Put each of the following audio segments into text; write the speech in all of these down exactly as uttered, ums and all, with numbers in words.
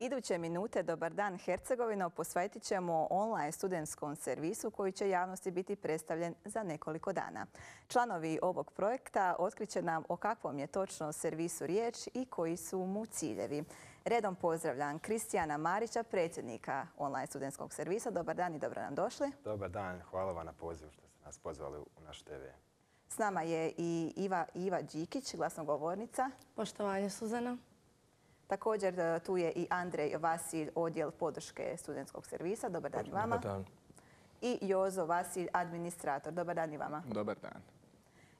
Iduće minute Dobar dan Hercegovino posvetit ćemo online studentskom servisu koji će javnosti biti predstavljen za nekoliko dana. Članovi ovog projekta otkriće nam o kakvom je točno servisu riječ i koji su mu ciljevi. Redom pozdravljam Kristijana Marića, predsjednika online studentskog servisa. Dobar dan i dobro nam došli. Dobar dan, hvala vam na pozivu što ste nas pozvali u naš te ve. S nama je i Iva, Iva Đikić, glasnogovornica. Poštovanje, Suzana. Također tu je i Andrej Vasilj, odjel podrške studentskog servisa. Dobar dan i vama. Dobar dan. I Jozo Vasilj, administrator. Dobar dan i vama. Dobar dan.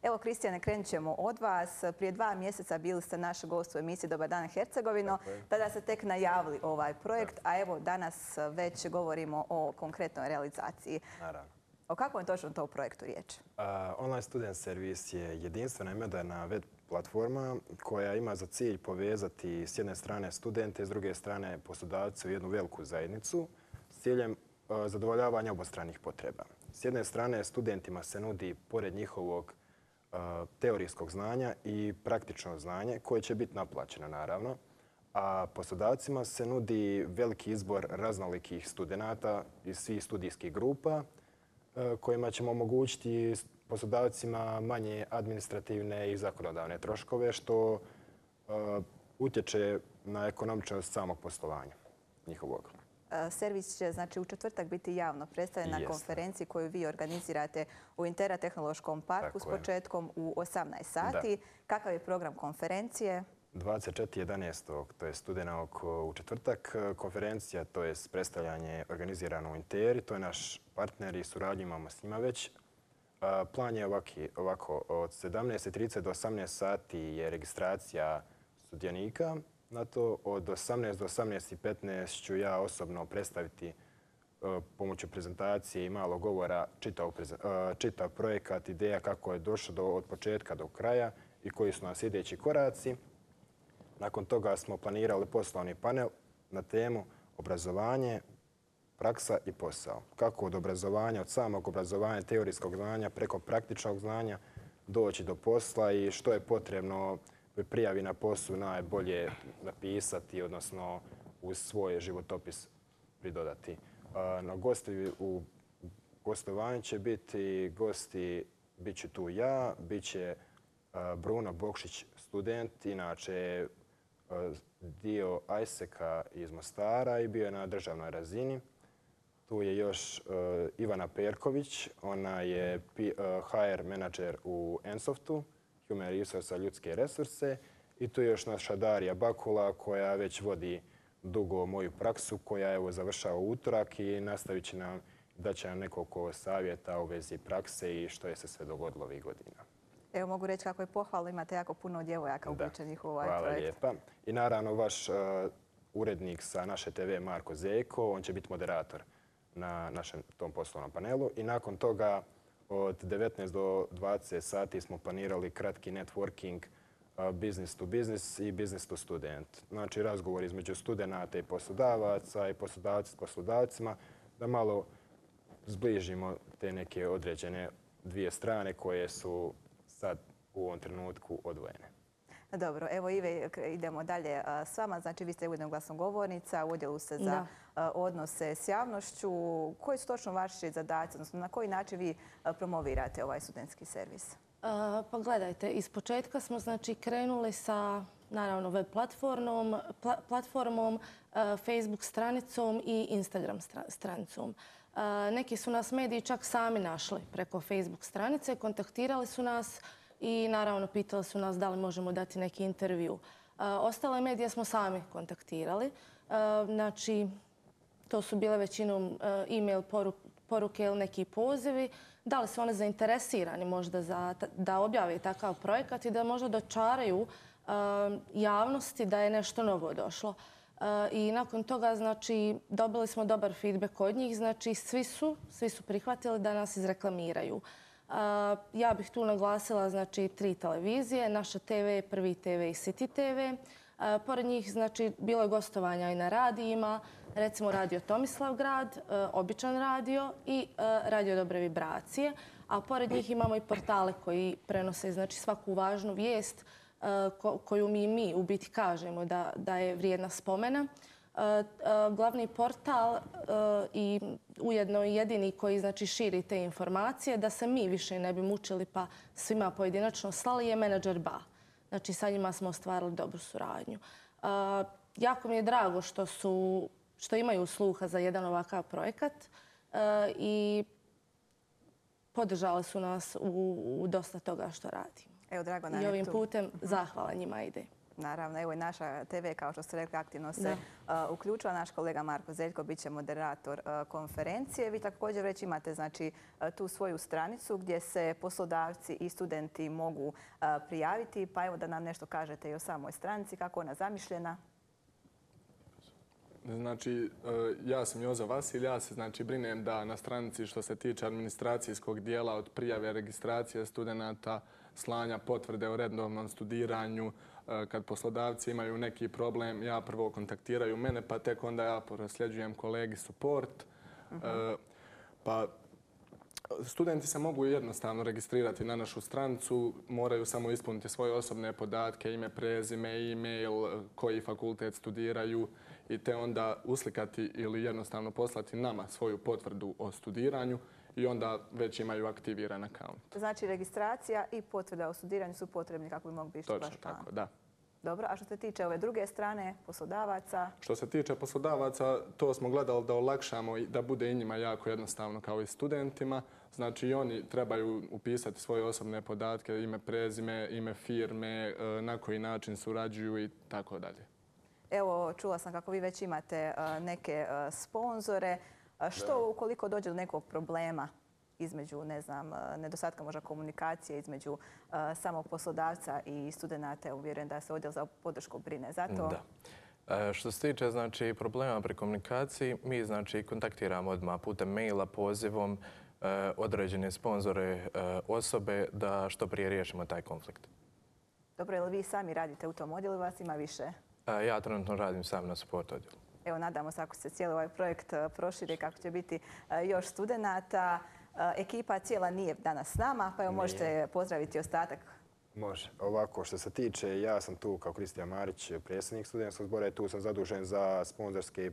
Evo, Kristijane, krenut ćemo od vas. Prije dva mjeseca bili ste naš gost u emisiji Dobar dan Hercegovino. Tada ste tek najavili ovaj projekt, a evo danas već govorimo o konkretnoj realizaciji. Naravno. O kakvom je točno to projektu riječ? Uh, online student servis je jedinstvena i moderna web platforma koja ima za cilj povezati s jedne strane studente, s druge strane poslodavce u jednu veliku zajednicu s ciljem uh, zadovoljavanja obostranih potreba. S jedne strane studentima se nudi, pored njihovog uh, teorijskog znanja, i praktično znanje koje će biti naplaćeno naravno, a poslodavcima se nudi veliki izbor raznolikih studenata iz svih studijskih grupa kojima ćemo omogućiti poslodavcima manje administrativne i zakonodavne troškove, što uh, utječe na ekonomičnost samog poslovanja njihovog. Servis će znači, u četvrtak biti javno predstavljen na konferenciji koju vi organizirate u Intera tehnološkom parku s početkom u osamnaest sati. Da. Kakav je program konferencije? dvadeset četvrtog jedanaestog to je studenog u četvrtak, konferencija, to je predstavljanje organizirano u Interi, to je naš partner i suradnju imamo s njima već. Plan je ovaki, ovako, od sedamnaest i trideset do osamnaest sati je registracija sudionika. Na to od osamnaest do osamnaest i petnaest ću ja osobno predstaviti pomoću prezentacije i malo govora čitav, čitav projekat, ideja kako je došlo do, od početka do kraja i koji su nas sljedeći koraci. Nakon toga smo planirali poslovni panel na temu obrazovanje, praksa i posao. Kako od obrazovanja, od samog obrazovanja, teorijskog znanja, preko praktičnog znanja doći do posla i što je potrebno pri prijavi na poslu najbolje napisati, odnosno uz svoj životopis pridodati. Na gosti u gostovanju će biti gosti, bit ću tu ja, bit će Bruno Bokšić, student, inače dio ajseka iz Mostara i bio je na državnoj razini. Tu je još uh, Ivana Perković, ona je uh, ha er menadžer u Ensoftu, Human Resource, ljudske resurse. I tu je još naša Darija Bakula koja već vodi dugo moju praksu, koja evo završava utorak i nastavit će nam, da će nam nekoliko savjeta u vezi prakse i što je se sve dogodilo ovih godina. Evo mogu reći kako je pohvalno, imate jako puno djevojaka uključenih u ovaj hvala projekt. Hvala lijepa. I naravno vaš uh, urednik sa naše te ve, Marko Zeko, on će biti moderator na našem tom poslovnom panelu. I nakon toga od devetnaest do dvadeset sati smo planirali kratki networking uh, business to business i business to student. Znači razgovor između studenata i poslodavaca i poslodavci s poslodavcima da malo zbližimo te neke određene dvije strane koje su sad u ovom trenutku odvojene. Dobro, evo Ive, idemo dalje s vama. Znači, vi ste ujedno glasnogovornica, u odjelu se za da. odnose s javnošću. Koji su točno vaši zadaci, odnosno na koji način vi promovirate ovaj studentski servis? Uh, pa gledajte, iz početka smo znači krenuli sa naravno web platformom, pla, platformom uh, Facebook stranicom i Instagram stranicom. Uh, neki su nas mediji čak sami našli preko Facebook stranice, kontaktirali su nas i naravno pitali su nas da li možemo dati neki intervju. Uh, ostale medije smo sami kontaktirali. Uh, znači, to su bile većinom uh, e-mail poruke, poruke ili neki pozivi. Da li su one zainteresirani možda za, da objave takav projekat i da možda dočaraju uh, javnosti da je nešto novo došlo. Uh, I nakon toga znači, dobili smo dobar feedback od njih. Znači, svi su, svi su prihvatili da nas izreklamiraju. Uh, ja bih tu naglasila znači, tri televizije, naša te ve, Prvi te ve i City te ve. Uh, pored njih znači, bilo je gostovanja i na radijima, recimo Radio Tomislavgrad, uh, Običan radio i uh, Radio Dobre vibracije. A pored njih imamo i portale koji prenose znači, svaku važnu vijest uh, ko, koju mi, mi u biti kažemo da, da je vrijedna spomena. Glavni portal i ujedno i jedini koji znači širi te informacije, da se mi više ne bi mučili pa svima pojedinačno slali, je menadžer B A. Znači sa njima smo ostvarili dobru suradnju. Jako mi je drago što su, što imaju sluha za jedan ovakav projekat i podržali su nas u, u dosta toga što radimo. Evo, drago nam I je ovim tu. putem zahvala njima ide. Naravno, evo i naša te ve, kao što ste rekli, aktivno se uh, uključila. Naš kolega Marko Zeljko bit će moderator uh, konferencije. Vi također već imate znači, uh, tu svoju stranicu gdje se poslodavci i studenti mogu uh, prijaviti. Pa evo da nam nešto kažete i o samoj stranici, kako je ona zamišljena. Znači, ja sam Jozo Vasilj, ja se znači brinem da na stranici što se tiče administracijskog dijela od prijave registracije studenata, slanja potvrde o redovnom studiranju, kad poslodavci imaju neki problem, ja prvo kontaktiraju mene, pa tek onda ja prosljeđujem kolegi support. Uh-huh. Pa studenti se mogu jednostavno registrirati na našu stranicu, moraju samo ispuniti svoje osobne podatke, ime, prezime, e-mail, koji fakultet studiraju i te onda uslikati ili jednostavno poslati nama svoju potvrdu o studiranju i onda već imaju aktiviran akaunt. Znači registracija i potvrda o studiranju su potrebni kako bi mogli biti vaš plan. Točno tako, da. Dobro, a što se tiče ove druge strane, poslodavaca? Što se tiče poslodavaca, to smo gledali da olakšamo i da bude i njima jako jednostavno kao i studentima. Znači i oni trebaju upisati svoje osobne podatke, ime, prezime, ime firme, na koji način surađuju i tako dalje. Evo, čula sam kako vi već imate neke sponzore. Što ukoliko dođe do nekog problema između, ne znam, nedostatka možda komunikacije između samog poslodavca i studenata? Uvjeren da se odjel za podršku brine za to. Da. Što se tiče znači, problema pri komunikaciji, mi znači, kontaktiramo odmah putem maila, pozivom određene sponzore osobe da što prije riješimo taj konflikt. Dobro, je li vi sami radite u tom odjelu, vas ima više? Ja trenutno radim sam na support odjelu. Evo, nadamo se ako se cijeli ovaj projekt proširi, kako će biti još studenata. Ekipa cijela nije danas s nama, pa evo možete pozdraviti ostatak. Može. Ovako, što se tiče, ja sam tu kao Kristijan Marić, predsjednik studentskog zbora i tu sam zadužen za sponzorske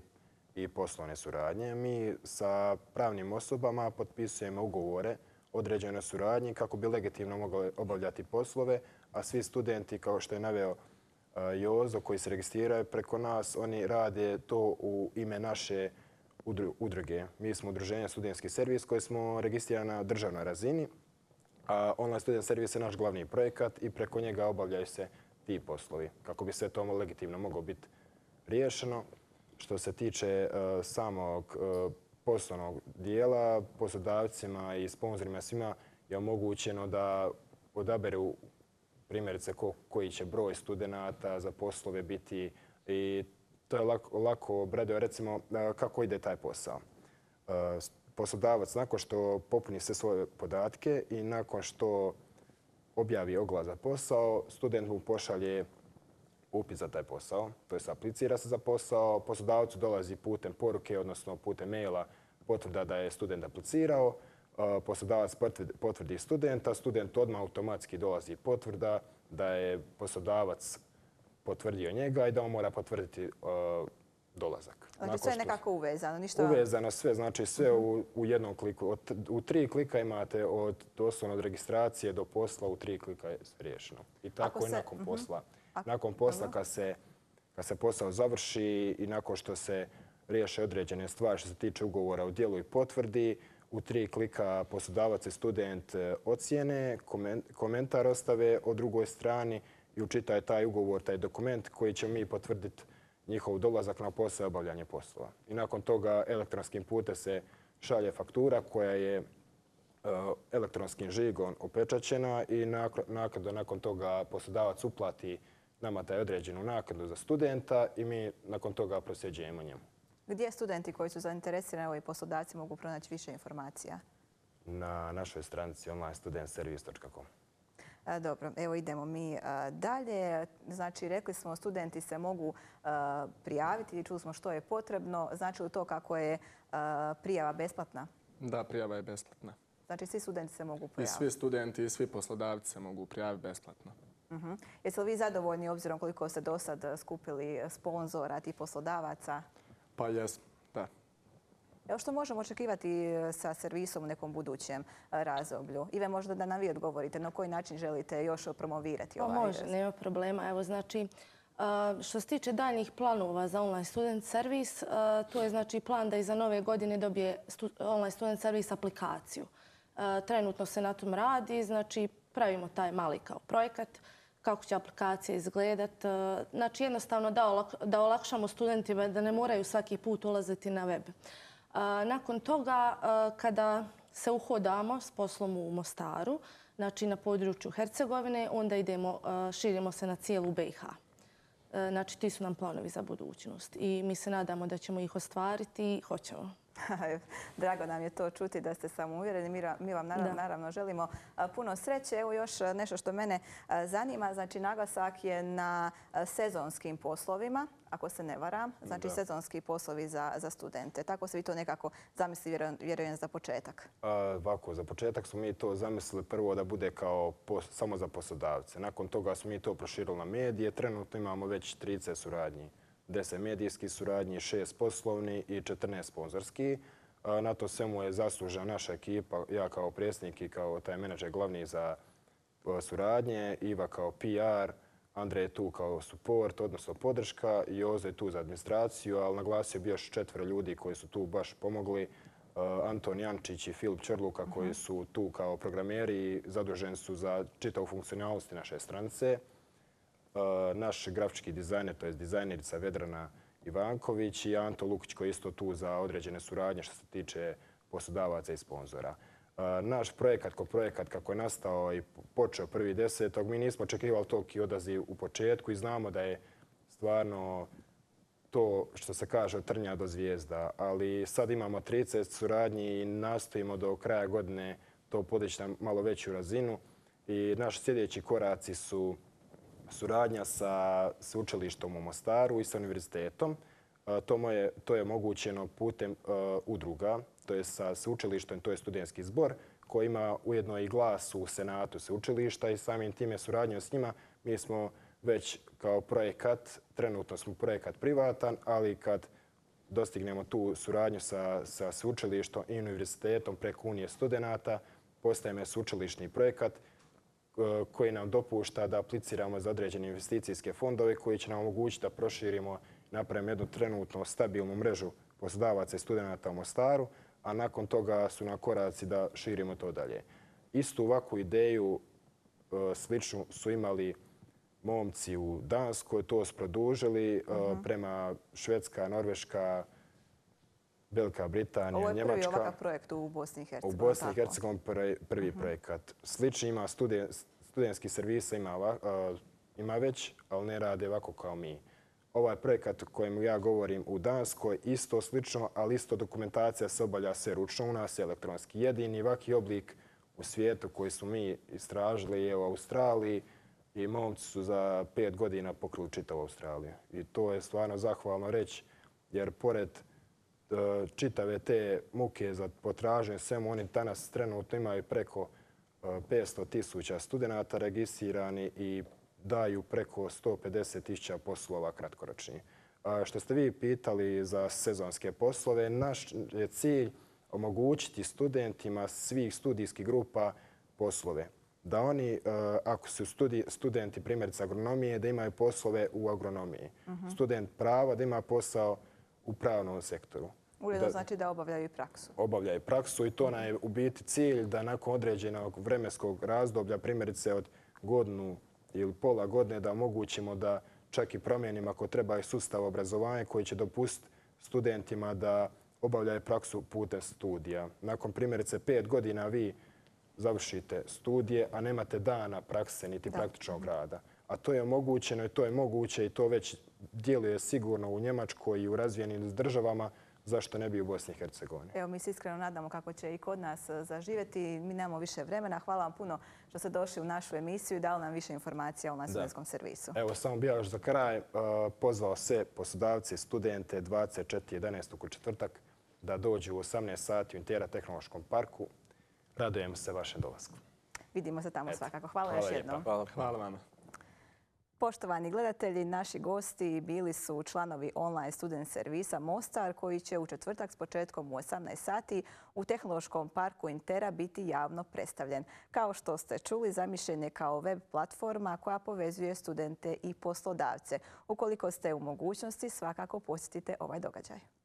i poslovne suradnje. Mi sa pravnim osobama potpisujemo ugovore određene suradnji kako bi legitimno mogli obavljati poslove, a svi studenti, kao što je naveo Jozo, koji se registriraju preko nas, oni rade to u ime naše udruge. Mi smo udruženje Studentski servis koji smo registrirani na državnoj razini, a online student servis je naš glavni projekat i preko njega obavljaju se ti poslovi kako bi sve to legitimno moglo biti riješeno. Što se tiče uh, samog uh, poslovnog dijela, poslodavcima i sponzorima svima je omogućeno da odaberu primjerice ko, koji će broj studenata za poslove biti i to je lako, lako obraduje recimo uh, kako ide taj posao. Uh, poslodavac nakon što popuni sve svoje podatke i nakon što objavi oglas za posao, student mu pošalje upis za taj posao, to je aplicira se za posao, poslodavcu dolazi putem poruke, odnosno putem maila potvrda da je student aplicirao, poslodavac potvrdi studenta, student odmah automatski dolazi potvrda da je poslodavac potvrdio njega i da on mora potvrditi dolazak. Znači sve je nekako uvezano, ništa... Uvezano sve, znači sve u, u jednom kliku. Od, u tri klika imate od doslovno od registracije do posla, u tri klika je riješeno. I tako je nakon posla. Nakon posla kad se, kad se posao završi i nakon što se riješe određene stvari što se tiče ugovora o djelu i potvrdi, u tri klika poslodavac i student ocijene, komentar ostave o drugoj strani i učitaje taj ugovor, taj dokument koji će mi potvrditi njihov dolazak na posao i obavljanje poslova. I nakon toga elektronskim putem se šalje faktura koja je elektronskim žigom opečaćena i nakon, nakon toga poslodavac uplati nama taj određenu naknadu za studenta i mi nakon toga prosljeđujemo njemu. Gdje studenti koji su zainteresirani i poslodavci mogu pronaći više informacija? Na našoj stranici online student servis točka com. Dobro, evo idemo mi dalje. Znači, rekli smo studenti se mogu prijaviti i čuli smo što je potrebno. Znači li to kako je prijava besplatna? Da, prijava je besplatna. Znači, svi studenti se mogu prijaviti? I svi studenti i svi poslodavci se mogu prijaviti besplatno. Uh-huh. Jeste li vi zadovoljni obzirom koliko ste do sad skupili sponzora, tih poslodavaca? Pa jesmo, da. Evo što možemo očekivati sa servisom u nekom budućem razdoblju? Ive, možda da nam vi odgovorite na koji način želite još promovirati ovaj... Pa može, nema problema. Evo, znači, što se tiče daljnjih planova za online student servis, to je znači plan da iza nove godine dobije online student servis aplikaciju. Trenutno se na tom radi, znači pravimo taj mali kao projekat, kako će aplikacija izgledati. Znači jednostavno da olakšamo studentima da ne moraju svaki put ulaziti na web. Nakon toga, kada se uhodamo s poslom u Mostaru, znači na području Hercegovine, onda idemo, širimo se na cijelu B i H. Znači, ti su nam planovi za budućnost i mi se nadamo da ćemo ih ostvariti i hoćemo. Drago nam je to čuti da ste samouvjereni. Mi vam naravno, naravno želimo puno sreće. Evo još nešto što mene zanima. Znači, naglasak je na sezonskim poslovima, ako se ne varam. Znači, da. Sezonski poslovi za, za studente. Tako se vi to nekako zamisli, vjerujem, za početak. Ovako, za početak smo mi to zamislili prvo da bude kao pos, samo za poslodavce. Nakon toga smo mi to proširili na medije. Trenutno imamo već trideset suradnji. deset medijskih suradnji, šest poslovni i četrnaest sponzorski. Na to svemu je zaslužena naša ekipa, ja kao predsjednik i kao taj menadžer glavni za suradnje, Iva kao P R, Andrej je tu kao support, odnosno podrška, Jozo je tu za administraciju, ali naglasio bi još četvero ljudi koji su tu baš pomogli. Anton Jančić i Filip Čerluka koji su tu kao programeri i zaduženi su za čitavu funkcionalnosti naše stranice. Naš grafički dizajner, to je dizajnerica Vedrana Ivanković i Anto Lukić koji je isto tu za određene suradnje što se tiče poslodavaca i sponzora. Naš projekat kao projekat kako je nastao i počeo prvi desetog, mi nismo očekivali toliki odaziv u početku i znamo da je stvarno to što se kaže od trnja do zvijezda, ali sad imamo trideset suradnji i nastojimo do kraja godine to podići na malo veću razinu i naši sljedeći koraci su suradnja sa sveučilištom u Mostaru i sa univerzitetom. To, je, to je omogućeno putem uh, udruga, to je sa sveučilištem, to je studentski zbor koji ima ujedno i glas u senatu sveučilišta i samim time suradnjom s njima mi smo već kao projekat, trenutno smo projekat privatan, ali kad dostignemo tu suradnju sa, sa sveučilištom i univerzitetom preko Unije studenata, postajemo sveučilišni projekat koji nam dopušta da apliciramo za određene investicijske fondove koji će nam omogućiti da proširimo i napravimo jednu trenutno stabilnu mrežu poslodavaca i studenata u Mostaru, a nakon toga su na koraci da širimo to dalje. Istu ovakvu ideju sličnu su imali momci u Danskoj, to su produžili uh-huh. prema Švedska, Norveška, Velika Britanija, Njemačka. Njemačka. Ovo je prvi ovakav projekt u Bosni i Hercegovini. U Bosni i Hercegovini prvi, prvi uh-huh. projekat. Slični ima studen, studentski servisa, ima, uh, ima već, ali ne rade ovako kao mi. Ovaj projekat o kojem ja govorim u Danskoj, isto slično, ali isto dokumentacija se obavlja sve ručno. U nas je elektronski. Jedini ovaki oblik u svijetu koji smo mi istražili je u Australiji i momci su za pet godina pokrili čitavu Australiju. I to je stvarno zahvalno reći, jer pored čitave te muke za potraženje svemu, oni danas trenutno imaju preko petsto tisuća studenata registrirani i daju preko sto pedeset tisuća poslova kratkoročnih. Što ste vi pitali za sezonske poslove, naš je cilj omogućiti studentima svih studijskih grupa poslove. Da oni, ako su studenti primjerice agronomije, da imaju poslove u agronomiji. Uh-huh. Student prava da ima posao u pravnom sektoru. Ujedno znači da obavljaju i praksu. Obavljaju praksu i to nam je u biti cilj da nakon određenog vremenskog razdoblja, primjerice od godinu ili pola godine, da omogućimo da čak i promijenimo ako treba i sustav obrazovanja koji će dopustiti studentima da obavljaju praksu putem studija. Nakon primjerice pet godina vi završite studije, a nemate dana prakse niti da. praktičnog rada. A to je omogućeno i to je moguće i to već djeluje sigurno u Njemačkoj i u razvijenim državama. Zašto ne bi u Bosni i Hercegovini? Evo, mi se iskreno nadamo kako će i kod nas zaživjeti. Mi nemamo više vremena. Hvala vam puno što ste došli u našu emisiju i dali nam više informacija o na studentskom servisu. Evo, samo bih još za kraj uh, pozvao sve poslodavce i studente dvadeset četvrtog jedanaestog u četvrtak da dođu u osamnaest sati u Intera tehnološkom parku. Radujemo se vašem dolasku. Vidimo se tamo Eto. svakako. Hvala, Hvala još lijepa. jednom. Hvala, hvala vama. Poštovani gledatelji, naši gosti bili su članovi online student servisa Mostar koji će u četvrtak s početkom u osamnaest sati u Tehnološkom parku Intera biti javno predstavljen. Kao što ste čuli, zamišljen je kao web platforma koja povezuje studente i poslodavce. Ukoliko ste u mogućnosti, svakako posjetite ovaj događaj.